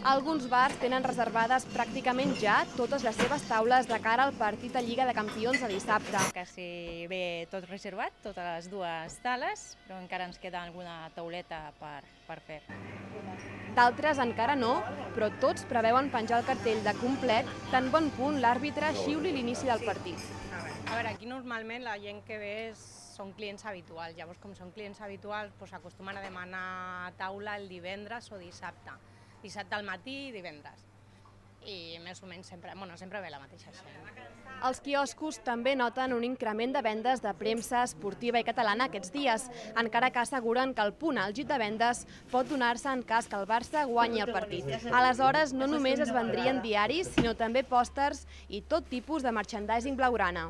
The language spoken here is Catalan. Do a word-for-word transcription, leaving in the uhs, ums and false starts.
Alguns bars tenen reservades pràcticament ja totes les seves taules de cara al partit de Lliga de Campions de dissabte. Quasi bé tot reservat, totes les dues sales, però encara ens queda alguna tauleta per, per fer. D'altres encara no, però tots preveuen penjar el cartell de complet tan bon punt l'àrbitre xiuli l'inici del partit. A veure, aquí normalment la gent que ve són clients habituals, llavors com són clients habituals doncs acostumen a demanar taula el divendres o dissabte. Dissabte al matí i divendres. I més o menys sempre, bueno, sempre ve la mateixa gent. Els quioscos també noten un increment de vendes de premsa esportiva i catalana aquests dies, encara que asseguren que el punt àlgid de vendes pot donar-se en cas que el Barça guanyi el partit. Aleshores, no només es vendrien diaris, sinó també pòsters i tot tipus de merchandising blaugrana.